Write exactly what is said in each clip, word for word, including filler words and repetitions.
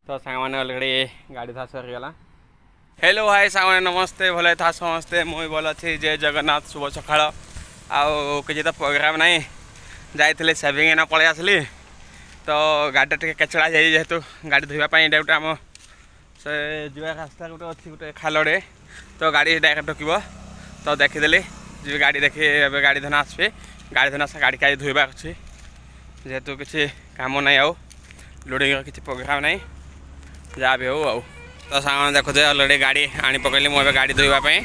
ତ ସାଙ୍ଗମାନେ ଅଲରେଡ଼ି ଗାଡ଼ି ଧୁଆ ସରିଗଲା। ହ୍ୟାଲୋ ହାଇ ସାଙ୍ଗମାନେ, ନମସ୍ତେ। ଭଲ ଥା ସମସ୍ତେ, ମୁଁ ବି ଭଲ ଅଛି। ଜୟ ଜଗନ୍ନାଥ, ଶୁଭ ସକାଳ। ଆଉ କିଛି ତ ପ୍ରୋଗ୍ରାମ୍ ନାହିଁ, ଯାଇଥିଲି ସେଭିଂ, ଏଇନା ପଳେଇ ଆସିଲି। ତ ଗାଡ଼ିଟା ଟିକେ କେଚଡ଼ା ହେଇଯାଇଛି, ଯେହେତୁ ଗାଡ଼ି ଧୋଇବା ପାଇଁ ଏଇଟା ଗୋଟେ ଆମ ସେ ଯିବା ରାସ୍ତା ଗୋଟେ ଅଛି ଗୋଟେ ଖାଲଟେ, ତ ଗାଡ଼ି ଡାଇରେକ୍ଟ ଢୁକିବ। ତ ଦେଖିଦେଲି, ଯିବି ଗାଡ଼ି ଦେଖି ଏବେ ଗାଡ଼ି ଧନ ଆସିବି। ଗାଡ଼ି ଧନ ଗାଡ଼ି କାଲି ଧୋଇବାର ଅଛି, ଯେହେତୁ କିଛି କାମ ନାହିଁ ଆଉ ଲୋଡ଼ିଂର କିଛି ପ୍ରୋଗ୍ରାମ୍ ନାହିଁ, ଯାହା ବି ହଉ। ଆଉ ତ ସାଙ୍ଗମାନେ ଦେଖୁଥିବେ, ଅଲରେଡ଼ି ଗାଡ଼ି ଆଣି ପକେଇଲି ମୁଁ ଏବେ ଗାଡ଼ି ଧୋଇବା ପାଇଁ।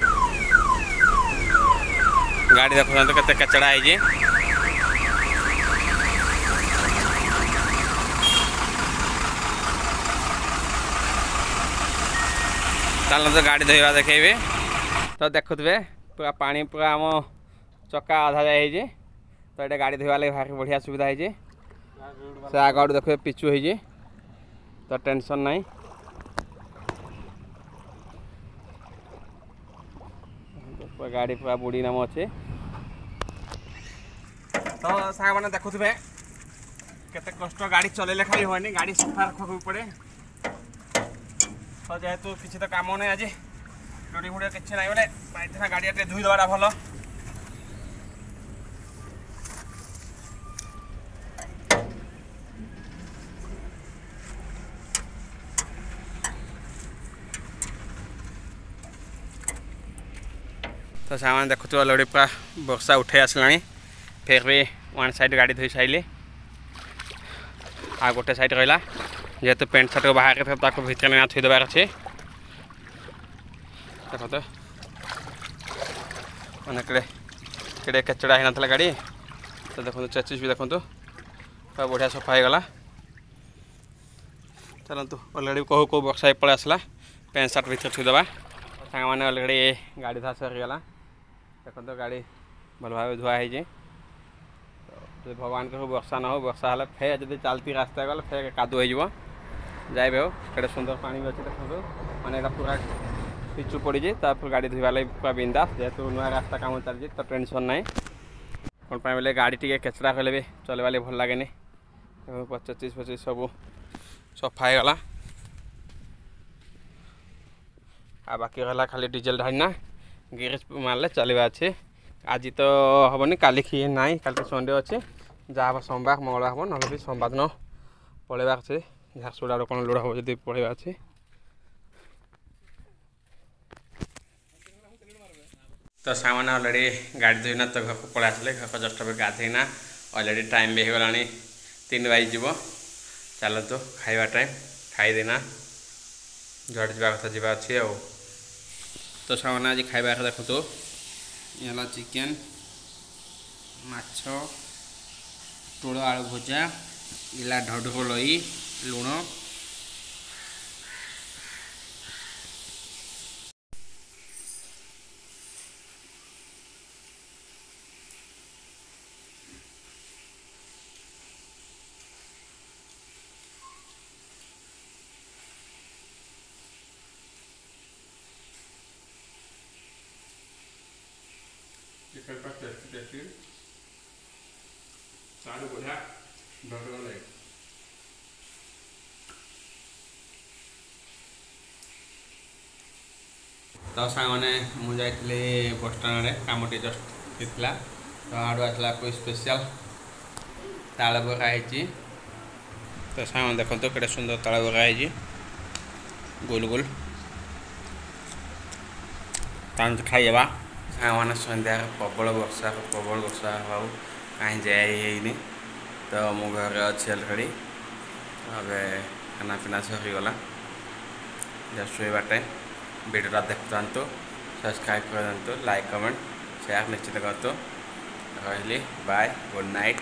ଗାଡ଼ି ଦେଖୁଛନ୍ତି କେତେ କେଚଡ଼ା ହେଇଛି। ଚାଲନ୍ତୁ ଗାଡ଼ି ଧୋଇବା ଦେଖେଇବି। ତ ଦେଖୁଥିବେ, ପୁରା ପାଣି ପୁରା ଆମ ଚକା ଅଧା ଯାଇ ହେଇଛି। ତ ଏଇଟା ଗାଡ଼ି ଧୋଇବା ଲାଗି ଭାରି ବଢ଼ିଆ ସୁବିଧା ହେଇଛି। ସେ ଆଗ ଆଡ଼ୁ ଦେଖିବେ ପିଚୁ ହେଇଛି, ତ ଟେନସନ୍ ନାହିଁ। ଗାଡ଼ି ପୁରା ବୁଡ଼ି ନାମ ଅଛି। ତ ସାଙ୍ଗମାନେ ଦେଖୁଥିବେ କେତେ କଷ୍ଟ, ଗାଡ଼ି ଚଲେଇଲେ ଖାଲି ହୁଏନି, ଗାଡ଼ି ସଫା ରଖିବାକୁ ପଡ଼େ। ତ ଯେହେତୁ କିଛି ତ କାମ ନାହିଁ ଆଜି, ଲୋଡ଼ିଂ ଫୋଡ଼ିଂ କିଛି ନାହିଁ ବୋଲେ ପାଇଥିଲା, ଗାଡ଼ିଟା ଟିକେ ଧୋଇ ଦେବାଟା ଭଲ। ତ ସାଙ୍ଗମାନେ ଦେଖୁଥିବ, ଅଲରେଡ଼ି ପୁରା ବର୍ଷା ଉଠେଇ ଆସିଲାଣି। ଫେର୍ ବି ୱାନ୍ ସାଇଡ଼୍ ଗାଡ଼ି ଧୋଇ ସାରିଲି, ଆଉ ଗୋଟେ ସାଇଡ଼୍ ରହିଲା। ଯେହେତୁ ପ୍ୟାଣ୍ଟ ସାର୍ଟ ବାହାରେ ଥିବ, ତାକୁ ଭିତରେ ନେଇ ଥୋଇ ଦେବାର ଅଛି। ଦେଖନ୍ତୁ ମାନେ କେଡ଼େ କେଡ଼େ କେଚଡ଼ା ହେଇନଥିଲା ଗାଡ଼ି। ତ ଦେଖନ୍ତୁ, ଚେଚିସ୍ ବି ଦେଖନ୍ତୁ ପୁରା ବଢ଼ିଆ ସଫା ହେଇଗଲା। ଚାଲନ୍ତୁ, ଅଲରେଡ଼ି କହୁ କହୁ ବର୍ଷା ହେଇ ପଳେଇ ଆସିଲା, ପ୍ୟାଣ୍ଟ ସାର୍ଟ ଭିତରେ ଥୋଇଦେବା। ସାଙ୍ଗମାନେ, ଅଲରେଡ଼ି ଗାଡ଼ି ଧୁଆ ସରିଗଲା। ଦେଖନ୍ତୁ, ଗାଡ଼ି ଭଲ ଭାବେ ଧୁଆ ହେଇଛି। ଯଦି ଭଗବାନଙ୍କ ବର୍ଷା ନ ହଉ। ବର୍ଷା ହେଲେ ଫେର୍ ଯଦି ଚାଲତି ରାସ୍ତା ଗଲେ ଫେର୍ କାଦୁଅ ହେଇଯିବ। ଯାଇ ବି ହଉ, କେଡ଼େ ସୁନ୍ଦର ପାଣି ବି ଅଛି ଦେଖନ୍ତୁ। ମାନେ ଏଇଟା ପୁରା ପିଚୁ ପଡ଼ିଛି, ତାପରେ ଗାଡ଼ି ଧୋଇବା ଲାଗି ପୁରା ବିନ୍ଦାସ। ଯେହେତୁ ନୂଆ ରାସ୍ତା କାମ ଚାଲିଛି, ତ ଟେନସନ୍ ନାହିଁ। କ'ଣ ପାଇଁ ବୋଲେ ଗାଡ଼ି ଟିକେ କେଚଡ଼ା ହେଲେ ବି ଚଲେଇବା ଲାଗି ଭଲ ଲାଗେନି। ପଚିଶ ପଚିଶ ସବୁ ସଫା ହେଇଗଲା। ଆଉ ବାକି ରହିଲା ଖାଲି ଡିଜେଲ ଢାଳିନା ଗ୍ୟାରେଜ ମାରିଲେ ଚାଲିବା ଅଛି। ଆଜି ତ ହେବନି, କାଲି ଖିଏ ନାହିଁ, କାଲି ତ ସଣ୍ଡେ ଅଛି। ଯାହା ହେବ ସୋମବାର ମଙ୍ଗଳବାର ହେବ, ନହେଲେ ବି ସୋମବାର ଦିନ ପଳେଇବାର ଅଛି। ଝାରସୁଗୁଡ଼ା ଆଡ଼ୁ କ'ଣ ଲୋଡ଼ ହେବ ଯଦି ପଳେଇବା ଅଛି। ତ ସାଙ୍ଗମାନେ, ଅଲରେଡ଼ି ଗାଡ଼ି ଧୋଇନା ତ ଘରକୁ ପଳେଇ ଆସିଲେ। ଘରକୁ ଜଷ୍ଟ ଏବେ ଗାଧେଇନା, ଅଲରେଡ଼ି ଟାଇମ୍ ବି ହେଇଗଲାଣି, ତିନି ବାଜିଯିବ। ଚାଲନ୍ତୁ, ଖାଇବା ଟାଇମ୍, ଖାଇଦେନା ଯୁଆଡ଼େ ଯିବା କଥା ଯିବା ଅଛି। ଆଉ ତ ସାଙ୍ଗମାନେ, ଆଜି ଖାଇବା ଦେଖନ୍ତୁ, ଇଏ ହେଲା ଚିକେନ୍, ମାଛ, ପୋଟଳ ଆଳୁ ଭଜା, ହେଲା ଢଢ଼ ଲଇ ଲୁଣ। ଚିକେନ୍ ପୁରା ଟେଷ୍ଟି ଟେଷ୍ଟି, ତାଠୁ ବଢ଼ିଆ ଢଢ଼ ଲାଗେ। ତ ସାଙ୍ଗମାନେ, ମୁଁ ଯାଇଥିଲି ବସଷ୍ଟାଣ୍ଡ ଆଡ଼େ, କାମ ଟିକେ ଜଷ୍ଟ ହେଇଥିଲା। ତ ଆଡ଼ୁ ଆସିଲା କୋଇ ସ୍ପେଶିଆଲ ତାଳ ବରା ହେଇଛି। ତ ସାଙ୍ଗମାନେ ଦେଖନ୍ତୁ, କେତେ ସୁନ୍ଦର ତାଳ ବରା ହେଇଛି, ଗୋଲ ଗୋଲ। ତାଙ୍କୁ ଖାଇଦେବା। ସାଙ୍ଗମାନେ, ସନ୍ଧ୍ୟାରେ ପ୍ରବଳ ବର୍ଷା, ପ୍ରବଳ ବର୍ଷା ହେବାକୁ କାହିଁ ଯାଇ ହେଇନି। ତ ମୁଁ ଘରେ ଅଛି ଅଲରେଡ଼ି ଏବେ, ଖାନା ପିନା ସରିଗଲା, ଜଷ୍ଟ ଶୋଇବା ଟାଇମ୍। ଭିଡ଼ିଓଟା ଦେଖୁଥାନ୍ତୁ, ସବସ୍କ୍ରାଇବ୍ କରିଦିଅନ୍ତୁ, ଲାଇକ୍, କମେଣ୍ଟ, ସେୟାର ନିଶ୍ଚିତ କରନ୍ତୁ। ରହିଲି, ବାଏ, ଗୁଡ଼୍ ନାଇଟ୍।